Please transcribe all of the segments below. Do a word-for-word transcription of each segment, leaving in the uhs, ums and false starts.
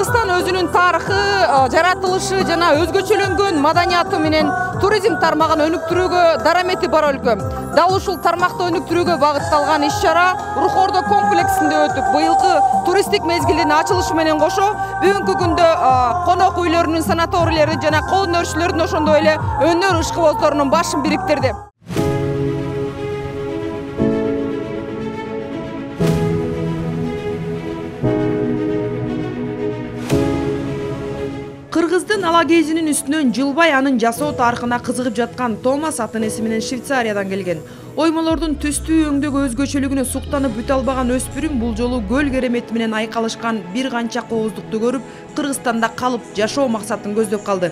Кыргызстан өзүнүн тарыхы, жаратылышы жана өзгөчөлөнгөн маданияты менен туризм тармагын өнүктүрүүгө дарамети бар өлкө. Дал ушул тармакты өнүктүрүүгө багытталган иш-чара Рухордо комплексинде өтүп, быйылкы туристтик мезгилдин ачылышы менен кошо бүгүнкү күндө конок үйлөрүнүн, санаторийлердин жана кол өнөрчүлөрдүн ошондой эле өнөр ышкыбоздорунун башын бириктирди. Кыргыздын ала кезинин үстүнөн жылбай анын жасоо тарыхына кызыгып жаткан Томас ата-энеси менен Швейцариядан келген. Оймолордун түстүү өңдөгү өзгөчөлүгүнө суктанып бүтө албаган өспүрүм бул жолу көл керемети менен айкалышкан бир канча кооздукту көрүп, Кыргызстанда калып жашоо максатын көздөп калды.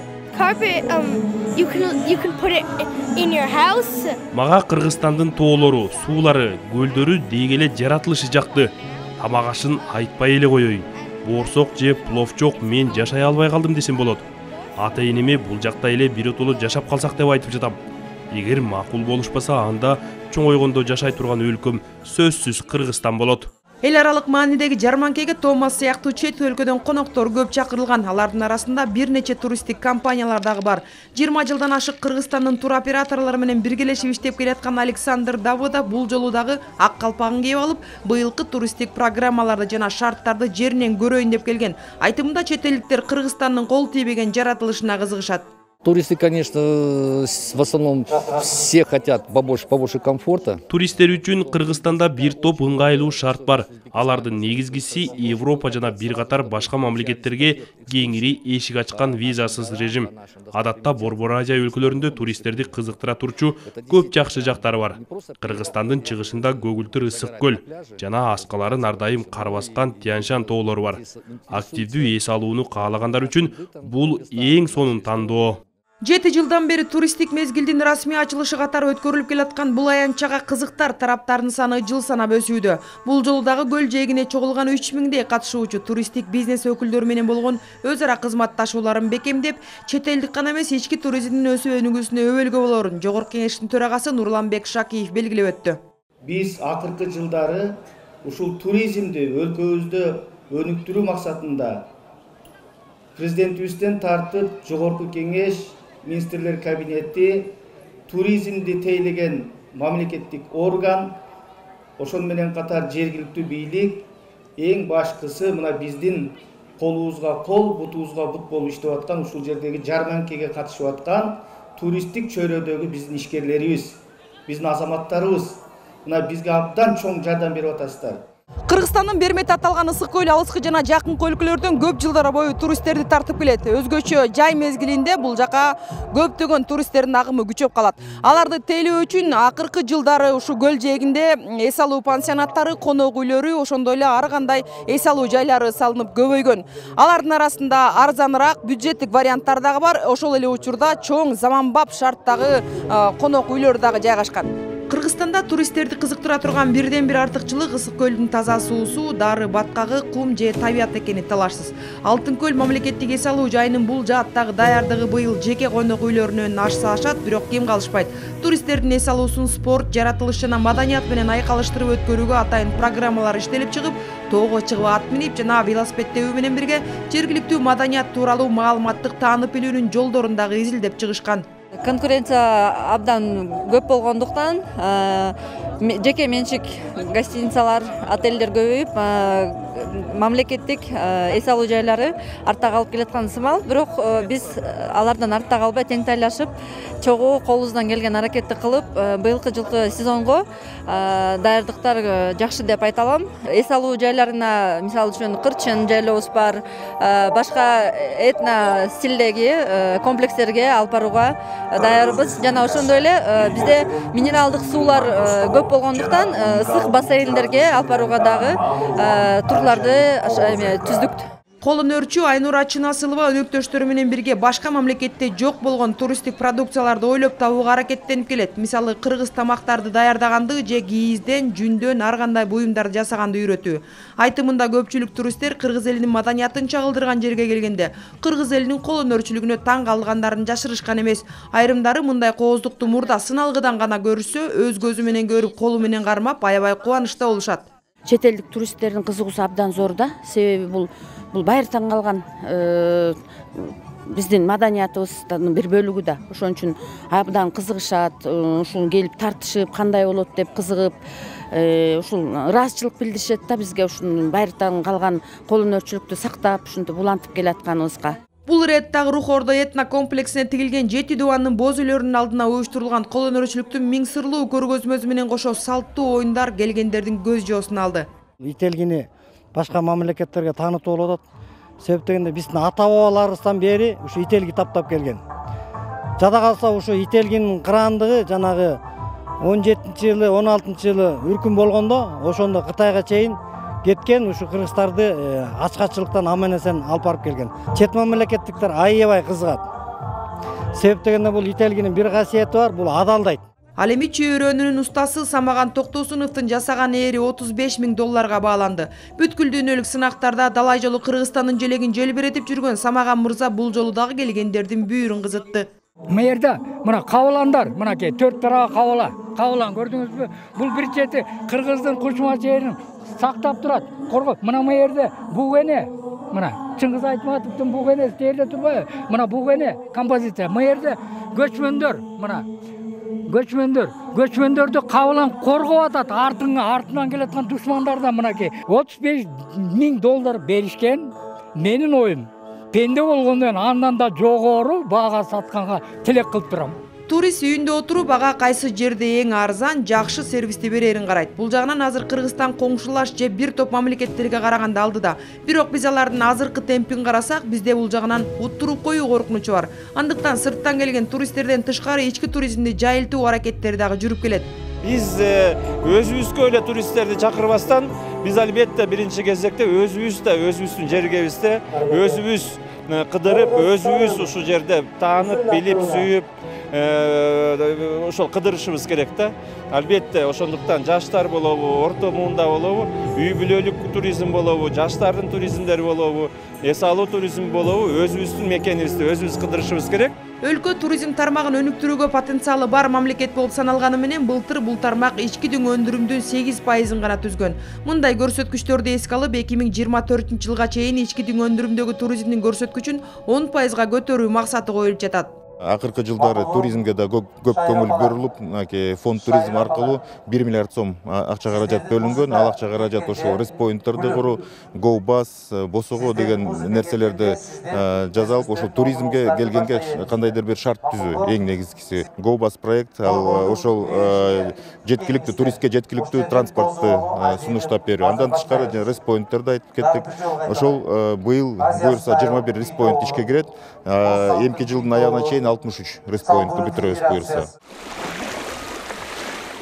Мага Кыргызстандын тоолору, суулары, көлдөрү дегеле жаратылышы жакты. Тамак ашын айтпай эле коеюн. Боорсок же пловчок мен жашай албай калдым десем болот. Ата-энеме бул жакта эле биротоло жашап калсак деп айтып жатам. Эгер макул болушпаса, анда чоңойгондо жашай турган өлкөм сөзсүз Кыргызстан болот. Эл аралык маанидеги жарманкеге Томас сыяктуу чет өлкөдөн коноктор көп чакырылган. Алардын арасында бир нече туристтик компаниялар дагы бар. жыйырма жылдан ашык Кыргызстандын тур операторлору менен биргелешип иштеп келаткан Александр Давыда бул жолу дагы ак калпагын кийип алып, быйылкы туристтик программаларды жана шарттарды жеринен көрөйүн деп келген. Айтымында чет элдиктер Кыргызстандын кол тийбеген жаратылышына кызыгышат. Туристы, конечно, в основном все хотят побольше, побольше комфорта. Туристтер үчүн Кыргызстанда бир топ ыңгайлуу шарт бар. Алардын негизгиси Европа жана бир катар башка мамлекеттерге кеңири эшик ачкан визасыз режим. Адатта Борбор Азия өлкөлөрүндө туристтерди кызыктыра турчу көп жакшы жактары бар. Кыргызстандын чыгышында көгүлтүр ысык көл жана аскаларын ар дайым кар баскан Тянь-Шань тоолору бар. Активдүү эс алууну каалагандар үчүн бул эң сонун тандоо. Жети жылдан бери туристтик мезгилдин расмий ачылышы катары өткөрүлүп келаткан бул аянтчага кызыктар тараптарынын саны жыл санап өсүүдө. Бул жолу дагы көл жээгине чогулган үч миңдей катышуучу туристтик бизнес өкүлдөрү менен болгон өз ара кызматташууларын бекемдеп, чет элдик гана эмес ички туризмдин өсүп өнүгүүсүнө өбөлгө болорун Жогорку Кеңештин төрагасы Нурланбек Шакиев белгилеп өттү. Биз акыркы жылдары ушул туризмди өлкөбүздө өнүктүрүү максатында президентибизден тартып Жогорку Кеңеш, Министрлер кабинети, туризмди тейлеген мамлекеттик орган, ошол менен катар жергиликтүү бийлик эң башкысы мына биздин колубузга кол, бутубузга бут болуп иштеп аткан ушул жердеги жарманкеге катышып аткан туристтик чөйрөдөгү биздин ишкерлерибиз, биздин азаматтарыбыз мына бизге абдан чоң жардам берип атасыздар. Кыргызстандын Бермет аталган ысык көл алыскы жана жакын өлкөлөрдөн көп жылдар бою туристтерди тартып келет. Өзгөчө жай мезгилинде бул жака көптөгөн туристтердин агымы күчөп калат. Аларды тейлөө үчүн акыркы жылдары ушул көл жээгинде эс алуу пансионаттары, конок үйлөрү, ошондой эле ар кандай эс алуу жайлары салынып көбөйгөн. Алардын арасында арзаныраак бюджеттик варианттар дагы бар. Ошол эле учурда чоң заманбап шарттагы конок үйлөр дагы жайгашкан. Кыргызстанда туристтерди кызыктыра турган бирден бир артыкчылык ысык көлдүн таза суусу, дары баткагы, кум же табият экени талашсыз. Алтын көл мамлекеттик эс алуу жайынын бул жааттагы даярдыгы быйыл жеке конок үйлөрүнөн ашса ашат, бирок кем калышпайт. Туристтердин эс алуусун спорт, жаратылыш жана маданият менен айкалыштырып өткөрүүгө атайын программалар иштелип чыгып, тоого чыгып ат минип жана велосипед тебүү менен бирге жергиликтүү маданият тууралуу маалыматтык таанып билүүнүн жолдорун дагы изилдеп чыгышкан. Конкуренция абдан көп болгондуктан жеке менчик гостиницалар, отелдер көбөйүп, мамлекеттик эс алуу жайлары артта калып келаткан сымал. Бирок биз алардан артта калбай тең тайлашып, чогуу колубуздан келген аракетти кылып, быйылкы жылкы сезонго даярдыктар жакшы деп айта алам. Эс алуу жайларына, мисалы үчүн Кырчын жайлообуз бар, башка этно стилдеги комплекстерге алып барууга даярбыз. Жана ошондой эле бизде минералдык суулар көп болгондуктан ысык бассейндерге алып барууга дагы турларды түздүк. Кол өнөрчү Айнура Чынасылова өнөктөштөрү менен бирге башка мамлекетте жок болгон туристтик продукцияларды ойлоп табууга аракеттенип келет. Мисалы, кыргыз тамактарды даярдаганды же кийизден, жүндөн ар кандай буюмдарды жасаганды үйрөтүү. Айтымында көпчүлүк туристтер кыргыз элинин маданиятын чагылдырган жерге келгенде кыргыз элинин кол өнөрчүлүгүнө таң калгандарын жашырышкан эмес. Айрымдары мындай кооздукту мурда сыналгыдан гана көрүшсө, өз көзү менен көрүп, колу менен кармап, аябай кубанычта болушат. чет элдик туристтердин кызыгуусу абдан зор да. Себеби бул бул байыртан калган биздин маданиятыбыздын бир бөлүгү да. Ошон үчүн абдан кызыгышат, ушул келип тартышып, кандай болот деп кызыгып, ушул ыраазычылык билдиришет да бизге ушун байыртан калган кол өнөрчүлүктү сактап, ушинтип улантып келатканыбызга. Бул ирет дагы Рух Ордо этно комплексине тигилген жети дубандын боз үйлөрүнүн алдына уюштурулган кол өнөрчүлүктүн миң сырлуу көргөзмөсү менен кошо салттуу оюндар келгендердин көз жоосун алды. Ителгини башка мамлекеттерге таанытып болуп атат. Себеп дегенде биздин ата бабаларыбыздан бери ушу ителги таптап келген. Жада калса ушу ителгинин кыраандыгы жанагы он жетинчи жылы, он алтынчы жылы үркүм болгондо ошондо Кытайга чейин кеткен, ушу кыргызстарды ачкачылыктан аман-эсен алып барып келген. Чет мамлекеттиктер аябай кызыгат. Себеп дегенде бул ителгинин бир касиети бар, бул адалдайт. Ал эми чөйрөнүнүн устасы Самаган Токтосуновдун жасаган ээри отуз беш миң долларга бааланды. Бүткүл дүйнөлүк сынактарда далай жолу Кыргызстандын желегин желбиретип жүргөн Самаган мырза бул жолу дагы келгендердин бүйүрүн кызытты. Мыйерде мына кабыландар, мынакей төрт тарабы кабыла. Кабылан көрдүңүзбү? Бул бир чети Кыргыздын кучма жерин сактап турат, коргоп. Мына мыйерде бугене, мына Чыңгыз Айтматовдун бугенеси жерде турбайбы? Мына бугене композиция. Мыйерде көчмөндөр, мына көчмөндөр, көчмөндөрдү кабылан коргоп атат. Артыңа, артынан келаткан душмандардан мынакей отуз беш миң доллар беришкен. Менин оюм пенде болгондон андан да жогору баага сатканга тилек кылып турам. Турист үйүндө отуруп ага кайсы жерде эң арзан, жакшы сервисти берерин карайт. Бул жагынан азыр Кыргызстан коңшулаш же бир топ мамлекеттерге караганда алдыда. Бирок биз алардын азыркы темпин карасак, бизде бул жагынан уттуруп коюу коркунучу бар. Андыктан сырттан келген туристтерден тышкары ички туризмди жайылтуу аракеттери дагы жүрүп келет. Биз өзүбүзгө эле туристтерди чакырбастан, биз албетте биринчи кезекте өзүбүздө, өзүбүздүн жергебизде, өзүбүз кыдырып, өзүбүз ушул жерде таанып, билип, сүйүп, ошол кыдырышыбыз керек да. Албетте ошондуктан жаштар болобу, орто муунда болобу, үй бүлөлүк туризм болобу, жаштардын туризмдери болобу, эс алуу туризм болобу, өзүбүздүн мекенибизди өзүбүз кыдырышыбыз керек. Өлкө туризм тармагын өнүктүрүүгө потенциалы бар мамлекет болуп саналганы менен былтыр бул тармак ички дүң өндүрүмдүн сегиз пайызын гана түзгөн. Мындай көрсөткүчтөрдү эске алып, эки миң жыйырма төртүнчү жылга чейин ички дүң өндүрүмдөгү туризмдин көрсөткүчүн он пайызга көтөрүү максаты коюлуп жатат. Акыркы жылдары туризмге да көп көңүл бөлүнүп, фонд туризм аркылуу бир миллиард сом акча каражат бөлүнгөн. Ал акча каражат ошол респоинттерди куруу, GoBus, Босого деген нерселерди жасалып, ошол туризмге келгенге кандайдыр бир шарт түзүү. Эң негизгиси GoBus проект, ал ошол жеткиликтүү туристке жеткиликтүү транспортты сунуштап берүү. Андан тышкары респоинттерди айтып кеттик. Ошол быйыл буюрса жыйырма бир респоинт ишке кирет. Эмки жылдын аягына чейин алтымыш үч респоинтты бүтүрөбүз буюрса.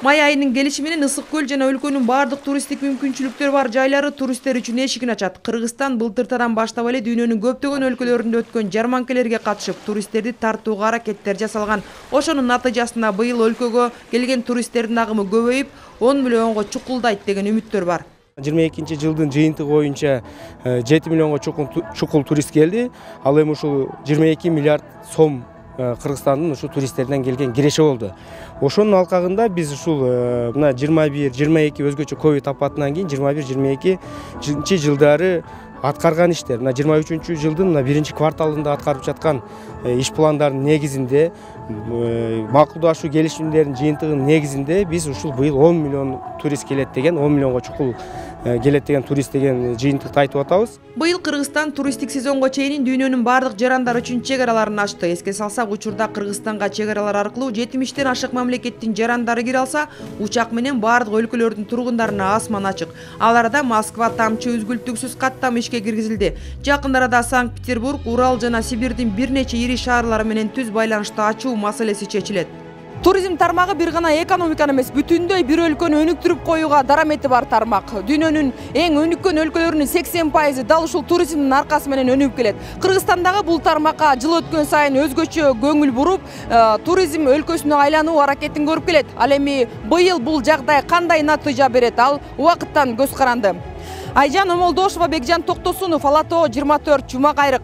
Май айынын келиши менен Ысык көл жана өлкөнүн бардык туристтик мүмкүнчүлүктөрү бар жайлары туристтер үчүн эшигин ачат. Кыргызстан былтыртадан баштап эле дүйнөнүн көптөгөн өлкөлөрүндө өткөн жарманкелерге катышып, туристтерди тартууга аракеттер жасалган. Ошонун натыйжасында быйыл өлкөгө келген туристтердин агымы көбөйүп, он миллионго чукулдайт деген үмүттөр бар. жыйырма экинчи жылдын жыйынтыгы боюнча жети миллионго чукул турист келди. Ал эми ушул жыйырма эки миллиард сом Кыргызстандын ушу туристтерден келген киреше болду. Ошонун алкагында биз ушул мына жыйырма бир жыйырма эки өзгөчө ковид апатынан кийин жыйырма бир жыйырма экинчи жылдары аткарган иштер, мына жыйырма үчүнчү жылдын мына биринчи кварталында аткарып жаткан иш пландарынын негизинде, макулдашуу келишимдеринин жыйынтыгынын негизинде биз ушул быйыл он миллион турист келет деген, он миллионго чукул келет деген турист деген жыйынтыкты айтып атабыз. Быйыл Кыргызстан туристтик сезонго чейин дүйнөнүн бардык жарандар үчүн чек араларын ачты. Эске салсак, учурда Кыргызстанга чек аралар аркылуу жетимиштен ашык мамлекеттин жарандары кире алса, учак менен бардык өлкөлөрдүн тургундарына асман ачык. Ал арада Москва тамчы үзгүлтүксүз каттам ишке киргизилди. Жакын арада Санкт-Петербург, Урал жана Сибирдин бир нече ири шаарлары менен түз байланышты ачуу маселеси чечилет. Туризм тармагы бир гана экономиканы эмес, бүтүндөй бир өлкөнү өнүктүрүп коюуга дарамети бар тармак. Дүйнөнүн эң өнүккөн өлкөлөрүнүн сексен пайызы дал ушул туризмдин аркасы менен өнүгүп келет. Кыргызстандагы бул тармакка жыл өткөн сайын өзгөчө көңүл буруп, туризм өлкөсүнө айлануу аракетин көрүп келет. Ал эми быйыл бул жагдай кандай натыйжа берет, ал убакыттан көз каранды. Айжан Омолдошова, Бекжан Токтосунов, Ала Тоо жыйырма төрт, Жума кайрык.